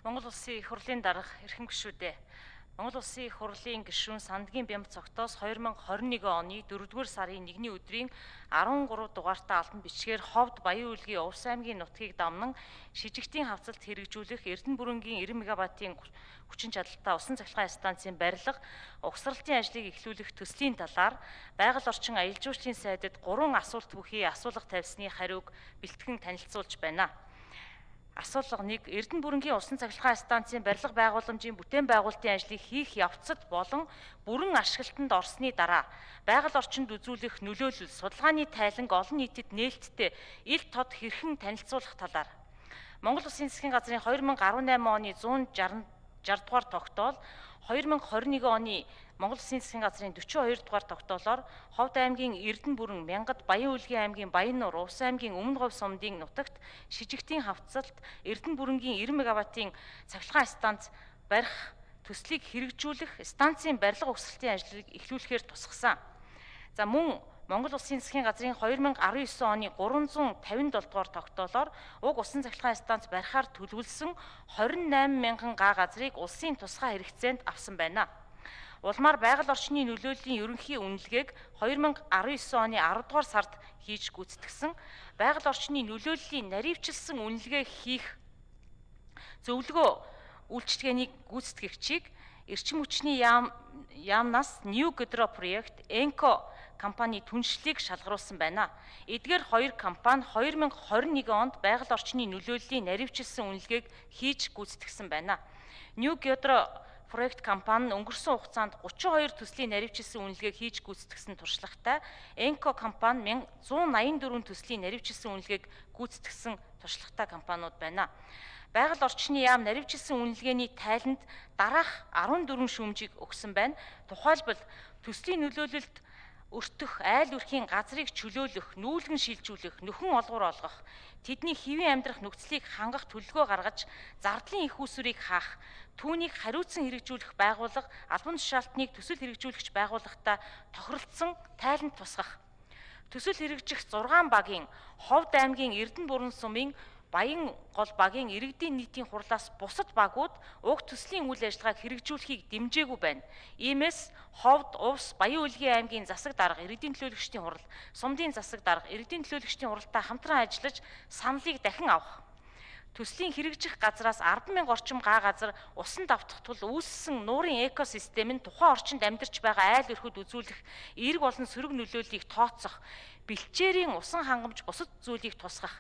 Монгол Улсын их хурлын дарга эрхэм гишүүдээ. Монгол Улсын их хурлын гишүүн Сандгийн Бямб цогтоос 2021 оны 4-р сарын 1-ний өдрийн 13 дугаартай албан бичгээр Ховд Баян Үйлгийн Увс аймгийн нутгийг дамнан шижигтийн хавцалт хэрэгжүүлэх Эрдэнэ бүрэнгийн 90 мегаваттын хүчин чадалтай усан цахилгаан станцын барилга, угсралтын ажлыг эхлүүлэх төслийн талаар байгаль орчин аялал жуулчлалын сайдад 3 асуулт бүхий асуулга тавьсны хариуг бэлтгэн танилцуулж байна. Асуулга 1. Эрдэнэ бүрэнгийн усан цахилгаан станцын барилга байгууламжийн бүтээн байгуулалтын ажлыг хийх явцад болон бүрэн ашиглалтанд орсны дараа байгаль орчинд үзүүлэх нөлөөлөл, судалгааны тайланг олон нийтэд нээлттэй ил тод хэрхэн танилцуулах талаар Монгол Улсын засгийн газрын 2018 оны 160 дугаар тогтоол, 2021 оны Монгол Улсын засгийн газрын 42 дугаар тогтоолоор Ховд аймгийн Эрдэнэ бүрэн, Мянгад, Баян Үйлгийн аймгийн Баяннуур, Увс аймгийн Өмнө Говь сумдын нутагт шижигтийн хавцалт Эрдэнэ бүрэнгийн 90 мегаваттын цахилгаан станц барих төслийг хэрэгжүүлэх станцын барилга угсралтын ажлыг эхлүүлэхээр тусгасан. За мөн Монгол Улсын засгийн газрын 2019 оны 357 дугаар тогтоолоор уг усан цахилгаан станц барихаар төлөвлөсөн 28 мянган га газрыг улсын тусгай хэрэгцээнд авсан байна. Улмаар байгаль орчны нөлөөллийн ерөнхий үнэлгээг 2019 оны 10 дугаар сард хийж гүйцэтгсэн. Байгаль орчны нөлөөллийн наривчилсан үнэлгээ хийх зөвлөгөө үйлчилгээний гүйцэтгэгчийг эрчим хүчний яамнаас New Gidro проект Enco компани түншлэлийг шалгаруулсан байна. Эдгээр хоёр компани 2021 онд байгаль орчны нөлөөллийн наривчилсан үнэлгээг хийж гүйцэтгсэн байна. New Gidro проект компани нь өнгөрсөн хугацаанд 32 төслийн наривчилсан үнэлгээг хийж гүйцэтгсэн туршлагатай, Enco компани 184 төслийн наривчилсан үнэлгээг гүйцэтгсэн туршлагатай компаниуд байна. Байгаль орчны яам наривчилсан үнэлгээний тайланд дараах 14 шүүмжийг өгсөн байна. Тухайлбал төслийн нөлөөлөлд өртөх, айл өрхийн газрыг чөлөөлөх, нүүлгэн шилжүүлэх, нөхөн олгор олгох, тэдний хэвийн амьдрах нөхцөлийг хангах төлөвлөгөө гаргаж, зардлын их усүрийг хаах, түүнийг хариуцсан хэрэгжүүлэх байгууллага, албан тушаалтныг төсөл хэрэгжүүлэгч байгууллагатай тохиролцсон тайланд тусгах. Төсөл хэрэгжих 6 багийн Ховд аймгийн Эрдэнэ бүрэн сумын Баян гол багийн иргэдийн нийтийн хурлаас бусад багууд уг төслийн үйл ажиллагааг хэрэгжүүлэхийг дэмжээгүй байна. Иймээс Ховд, Увс, Баян Үйлгийн аймгийн засаг дарга, иргэдийн төлөөлөгчдийн хурал, сумдын засаг дарга, иргэдийн төлөөлөгчдийн хуралтай хамтран ажиллаж саналыг дахин авах. Төслийн хэрэгжих газраас 10,000 орчим га газар усанд автах тул үүссэн нуурын экосистем нь тухайн орчинд амьдарч байгаа айл өрхөд үзүүлэх эерэг болон сөрөг нөлөөллийг тооцох, бэлчээрийн усан хангамж бусад зүйлийг тусгах,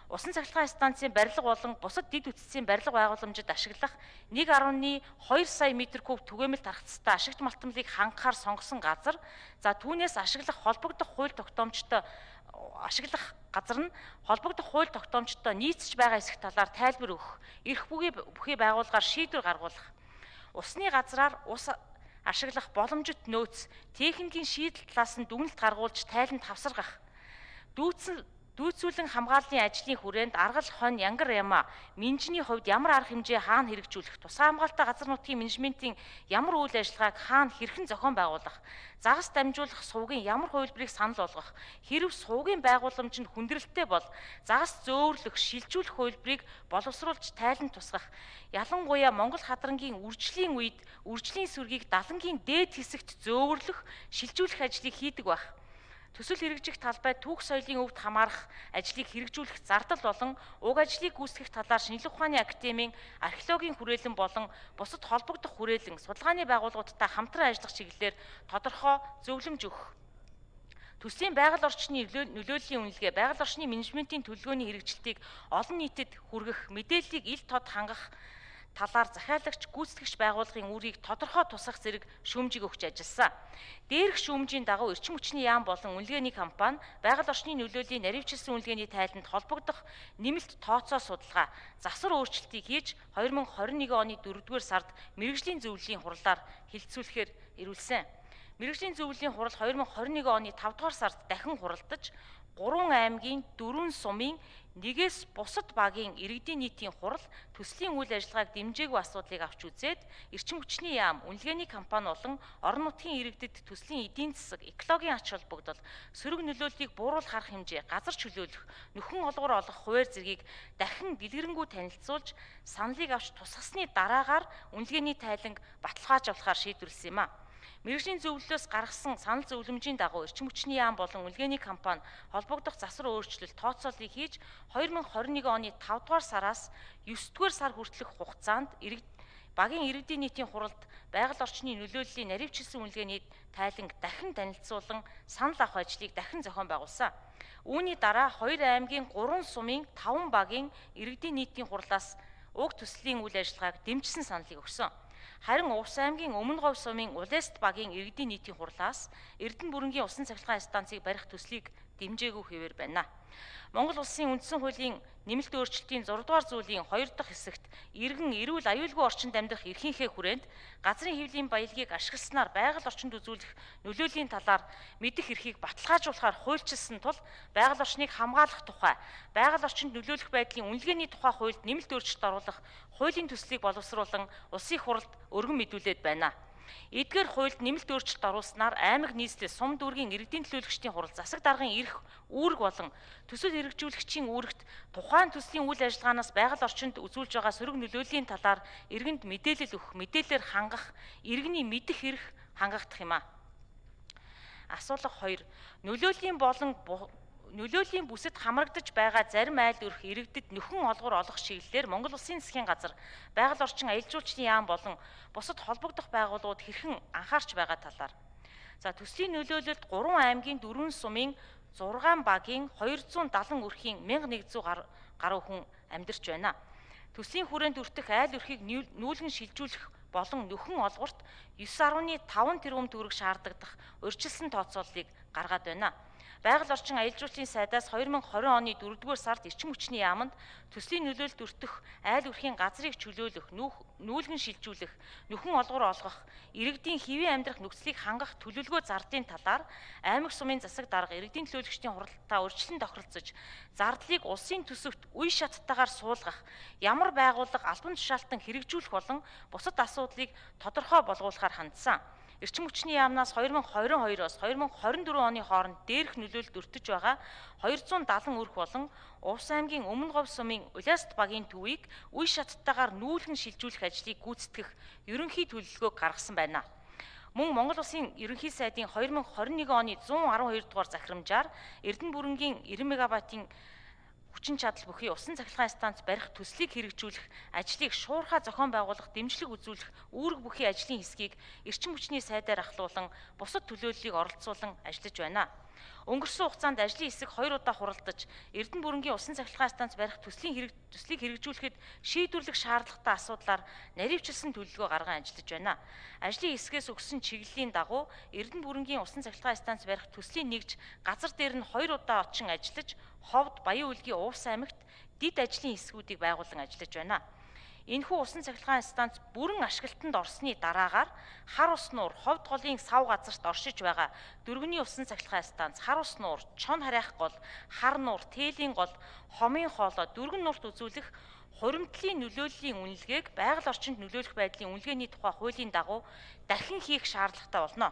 усан цахилгаан станцын барилга болон бусад дэд үтцийн барилга байгууламжид ашиглах 1.2 сая метр куб түгээмэл тархацтай ашигт малтмлыг хангахаар сонгосон газар, за түүнээс ашиглах холбогдох хууль тогтоомжтой нийцэж байгаа эсэх талаар тайлбар өгөх, эрх бүхий байгуулгаар шийдвэр гаргуулах, усны газраар ус ашиглах боломжит нөөц, техникийн шийдэл талаас нь дүгнэлт гаргуулж тайланд хавсаргах, дүүцүүлэн хамгааллын ажлын хүрээнд аргал, хонь, янгар яма, менжний хувьд ямар арга хэмжээ хаана хэрэгжүүлэх, тусгай хамгаалалттай газар нутгийн менежментийн ямар үйл ажиллагааг хаана хэрхэн зохион байгуулах, загас дамжуулах сувгийн ямар хувилбарыг санал болгох, хэрэв сувгийн байгууламж нь хүндрэлтэй бол загас зөөвөрлөх, шилжүүлэх хувилбарыг боловсруулж тайланд тусгах, ялангуяа Монгол хадрангийн үржлийн үед үржлийн сүргийг далангийн дээд хэсэгт зөөвөрлөх, шилжүүлэх ажлыг хийдэг байх. Төсөл хэрэгжих талбай түүх соёлын өвд хамаарах ажлыг хэрэгжүүлэх зардал болон уг ажлыг гүйцэтгэх талаар шинжилгээ ухааны академийн археологийн хүрээлэн болон бусад холбогдох хүрээлэн судалгааны байгууллагуудтай хамтран ажиллах чиглэлээр тодорхой зөвлөмж өгөх. Төслийн байгаль орчны нөлөөллийн үнэлгээ, байгаль орчны менежментийн төлөвлөгөөний хэрэгжилтийг олон нийтэд хүргэх, мэдээллийг ил тод хангах талаар захиалагч, гүйцэтгэгч байгууллагын үүргийг тодорхой тусгах зэрэг шүүмжийг өгч ажилласан. Дээрх шүүмжийн дагуу эрчим хүчний яам болон үнэлгээний компани байгаль орчны нөлөөллийн наривчилсан үнэлгээний тайланд холбогдох нэмэлт тооцоо судалгаа, засвар өөрчлөлтийг хийж 2021 оны 4-р сард мэргэжлийн зөвлөлийн хурлаар хэлэлцүүлэхээр ирүүлсэн. Мэргэжлийн зөвлөлийн хурал 2021 оны 5 дугаар сард дахин хуралдаж 3 аймгийн 4 сумын нэгээс бусад багийн иргэдийн нийтийн хурал төслийн үйл ажиллагааг дэмжээгүй асуудлыг авч үзээд эрчим хүчний яам, үнэлгээний компани болон орон нутгийн иргэдэд төслийн эдийн засаг, экологийн ач холбогдол, сөрөг нөлөөллийг бууруулах арга хэмжээ, газар чөлөөлөх, нөхөн олгор олох хуваар зэргийг дахин дэлгэрэнгүй танилцуулж, саналыг авч тусгасны дараагаар үнэлгээний тайланг баталгааж авахар шийдвэрлэсэн юм а. Мэргэжлийн зөвлөлөөс гаргасан санал зөвлөмжийн дагуу эрчим хүчний яам болон үнэлгээний компани холбогдох засвар өөрчлөлт тооцооллыг хийж 2021 оны 5 дугаар сараас 9 дугаар сар хүртэлх хугацаанд багийн иргэдийн нийтийн хуралд байгаль орчны нөлөөллийн наривчилсан үнэлгээний тайланг дахин танилцуулан санал авах ажлыг дахин зохион байгуулсан. Үүний дараа 2 аймгийн 3 сумын 5 багийн иргэдийн нийтийн хурлаас уг төслийн үйл ажиллагааг дэмжсэн саналыг өгсөн. Харин Увс аймгийн Өмнө Говь сумын Улест багийн иргэдийн нийтийн хурлаас Эрдэнэ бүрэнгийн усан цахилгаан станцыг барих төслийг дэмжээгүй хэвээр байна. Монгол Улсын үндсэн хуулийн нэмэлт өөрчлөлтийн 6 дугаар зүйлийн 2 дахь хэсэгт иргэн эрүүл аюулгүй орчинд амьдрах эрхийнхээ хүрээнд газрын хэвлийн баялагийг ашигласнаар байгаль орчинд үзүүлэх нөлөөлийн талаар мэдэх эрхийг баталгаажуулахаар хуульчилсан тул байгаль орчныг хамгаалах тухай байгаль орчинд нөлөөлөх байдлын үнэлгээний тухай хуульд нэмэлт өөрчлөлт оруулах хуулийн төслийг боловсруулан улсын хуралд өргөн мэдүүлээд байна. Эдгээр хуульд нэмэлт өөрчлөлт оруулснаар аймаг нийслэл сум дүүргийн иргэдийн төлөөлөгчдийн хурал засаг даргын эрх үүрэг болон төсөл хэрэгжүүлэгчийн үүрэгт тухайн төслийн үйл ажиллагаанаас байгаль орчинд үзүүлж байгаа сөрөг нөлөөллийн талаар иргэнд мэдээлэл өгөх, мэдээлэлээр хангах, иргэний мэдэх эрх хангагдах юм а. Асуулга 2. Нөлөөлийн бүсэд хамрагдаж байгаа зарим айл өрх иргэдэд нөхөн олгор олох чиглэлээр Монгол Улсын засгийн газар байгаль орчин аялал жуулчдын яам болон бусад холбогдох байгууллагууд хэрхэн анхаарч байгаа талаар. За төслийн нөлөөлөлд 3 аймгийн 4 сумын 6 багийн 270 өрхийн 1100 гаруй хүн амьдарч байна. Төслийн хүрээнд өртөх айл өрхийг нүүлгэн шилжүүлэх болон нөхөн олгорт 9.5 тэрбум төгрөг шаардагдах урьдчилсан тооцооллыг гаргаад байна. Байгаль орчин аялал жуулчлалын сайдаас 2020 оны 4-р сард эрчим хүчний яамд төслийн нөлөөлөлд өртөх айл өрхийн газрыг чөлөөлөх, нүүлгэн шилжүүлэх, нөхөн олгор олгох, иргэдийн хэвийн амьдрах нөхцөлийг хангах төлөвлөгөө зардын талаар аймаг сумын засаг дарга иргэдийн төлөөлөгчдийн хуралдаа урьдчилан тохиролцож, зардлыг улсын төсөвт үе шаттайгаар суулгах, ямар байгууллага албан тушаалтан хэрэгжүүлэх болон бусад асуудлыг тодорхой болгуулахаар хандсан. Эрчим хүчний яамнаас 2022-оос 2024 оны хооронд дээрх нөлөөлөлд өртөж байгаа 270 өрх болон Увс аймгийн Өмнө Говь сумын Улест багийн төвийг үе шаттайгаар нүүлгэн шилжүүлэх ажлыг гүйцэтгэх ерөнхий төлөвлөгөөг гаргасан байна. Мөн Монгол Улсын ерөнхий сайдын 2021 оны 112 дугаар захирамжаар Эрдэнэ бүрэнгийн 90 мегаваттын хүчин чадал бүхий усан цахилгаан станц барих төслийг хэрэгжүүлэх ажлыг шуурхай зохион байгуулах, дэмжлэг үзүүлэх үүрэг бүхий ажлын хэсгийг эрчим хүчний сайдаар ахлуулан бусад төлөөллийг оролцуулан ажиллаж байна. Өнгөрсөн хугацаанд ажлын хэсэг 2 удаа хуралдаж, Эрдэнэ бүрэнгийн усан цахилгаан станц барих төслийг хэрэгжүүлэхэд шийдвэрлэх шаардлагатай асуудлаар наривчилсан төлөвлөгөө гарган ажиллаж байна. Ажлын хэсгээс өгсөн чиглэлийн дагуу Эрдэнэ бүрэнгийн усан цахилгаан станц барих төслийн нэгж газар дээр нь 2 удаа очин ажиллаж, Ховд, Баян Үлгийн Увс аймагт дид ажлын хэсгүүдийг байгуулан ажиллаж байна. Энэхүү усан цахилгаан станц бүрэн ашиглалтанд орсны дараагаар хар ус нуур, Ховд голын сав газарт оршиж байгаа дөрвөний усан цахилгаан станц, хар ус нуур, чон харайх гол, хар нуур, тээлийн гол, хомын хоолой, дөргөн нуурт үзүүлэх хуримтлалын нөлөөллийн үнэлгээг байгаль орчинд нөлөөлөх байдлын үнэлгээний тухай хуулийн дагуу дахин хийх шаардлагатай болно.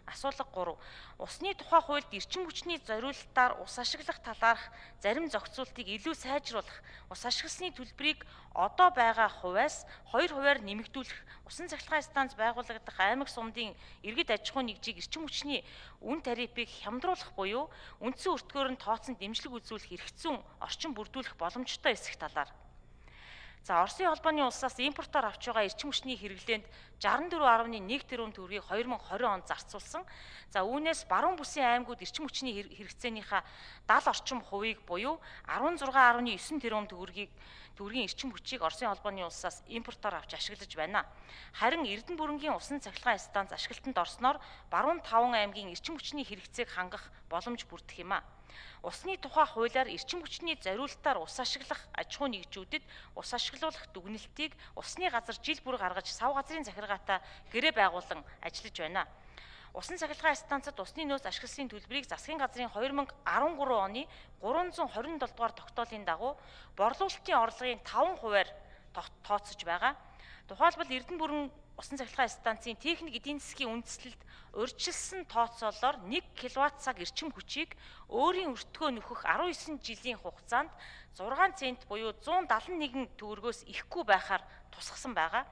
Асуулга 3. Усны тухай хуульд эрчим хүчний зориулалтаар ус ашиглах талаарх зарим зохицуултыг илүү сайжруулах, ус ашигласны төлбөрийг одоо байгаа хувиас 2% нэмэгдүүлэх, усан цахилгаан станц байгуулагдах аймаг сумдын иргэд аж ахуйн нэгжийг эрчим хүчний үн тарифыг хямдруулах буюу үндсэн өртгөөр нь тооцсон дэмжлэг үзүүлэх эрх зүйн орчин бүрдүүлэх боломжтой эсэх талаар. За Оросын холбооны улсаас импортоор авч байгаа эрчим хүчний хэрэглээнд 64.1 тэрбум төгрөгийг 2020 онд зарцуулсан. За үүнээс баруун бүсийн аймагуд эрчим хүчний хэрэгцээнийхээ 70 орчим хувийг буюу 16.9 тэрбум төгрөгийн эрчим хүчийг Оросын холбооны улсаас импортоор авч ашиглаж байна. Харин Эрдэнэ бүрэнгийн усан цахилгаан станц ашиглалтанд орсноор баруун 5 аймгийн эрчим хүчний хэрэгцээг хангах боломж бүрдэх юм а. Усны тухай хуулиар эрчим хүчний зориулалтаар ус ашиглах аж ахуй нэгжүүдэд ус ашиглуулах дүгнэлтийг усны газар жил бүр гаргаж сав газрын захиргаатай гэрээ байгуулан ажиллаж байна. Усан цахилгаан станцад усны нөөц ашиглалтын төлбөрийг засгийн газрын 2013 оны 327 дугаар тогтоолын дагуу борлуулалтын орлогын 5%-аар тооцож байгаа. Тухайлбал Эрдэнэ бүрэн усан цахилгаан станцын техник эдийн засгийн үндэслэлд урьдчилсан тооцоолоор 1 кВт-цаг эрчим хүчийг өөрийн өртгөө нөхөх 19 жилийн хугацаанд 6 цент буюу 171 төгрөгөөс ихгүй байхаар тусгасан байгаа.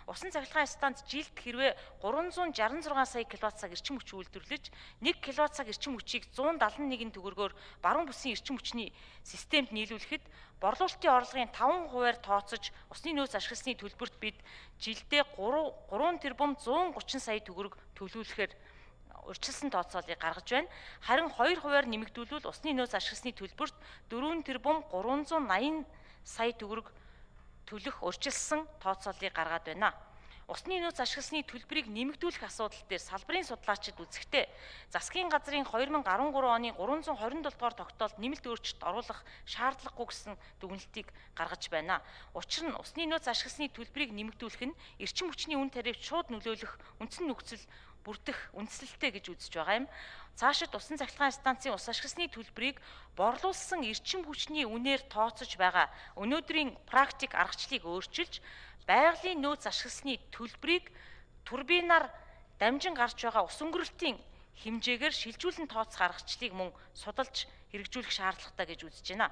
Усан цахилгаан станц жилд хэрвээ 366 сая кВт-цаг эрчим хүч үйлдвэрлэж 1 кВт-цаг эрчим хүчийг 171 төгрөгөөр баруун бүсийн эрчим хүчний системд нийлүүлэхэд борлуулалтын орлогын 5%-аар тооцож усны нөөц ашигласны төлбөрт бид жилдээ 3 тэрбум 130 сая төгрөг төлүүлэхээр урьдчилсан тооцоолыг гаргаж байна. Харин 2%-аар нэмэгдүүлвэл усны нөөц ашигласны төлбөрт 4 тэрбум 380 сая төгрөг төлөх урьдчилсан тооцоолыг гаргаад байна. Усны нөөц ашигласны төлбөрийг нэмэгдүүлэх асуудал дээр салбарын судлаачид үзэхдээ засгийн газрын 2013 оны 327 дугаар тогтоолд нэмэлт өөрчлөлт оруулах шаардлагагүй гэсэн дүгнэлтийг гаргаж байна. Учир нь усны нөөц ашигласны төлбөрийг нэмэгдүүлэх нь эрчим хүчний үн тарифт шууд нөлөөлөх үндсэн нөхцөл бүрдэх үндслэлтэй гэж үзэж байгаа юм. Цаашид усан цахилгаан станцын ус ашигласны төлбөрийг борлуулсан эрчим хүчний үнээр тооцож байгаа өнөөдрийн практик аргачлалыг өөрчилж байгалийн нөөц ашигласны төлбөрийг турбинаар дамжин гарч байгаа ус өнгөрөлтийн хэмжээгээр шилжүүлэн тооцох аргачлалыг мөн судалж хэрэгжүүлэх шаардлагатай гэж үзэж байна.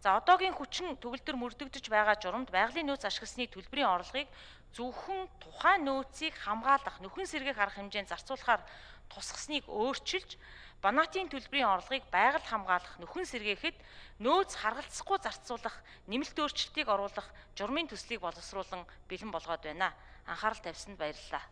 За одоогийн хүчин төгөлдөр мөрдөгдөж байгаа журамд байгалийн нөөц ашигласны төлбөрийн орлогыг зөвхөн тухайн нөөцийг хамгаалах, нөхөн сэргээх арга хэмжээнд зарцуулахаар тусгасныг өөрчилж, банаатын төлбөрийн орлогыг байгаль хамгаалах, нөхөн сэргээхэд нөөц харгалзахгүй зарцуулах, нэмэлт өөрчлөлтийг оруулах журмын төслийг боловсруулан бэлэн болгоод байна. Анхаарал тавьсанд баярлалаа.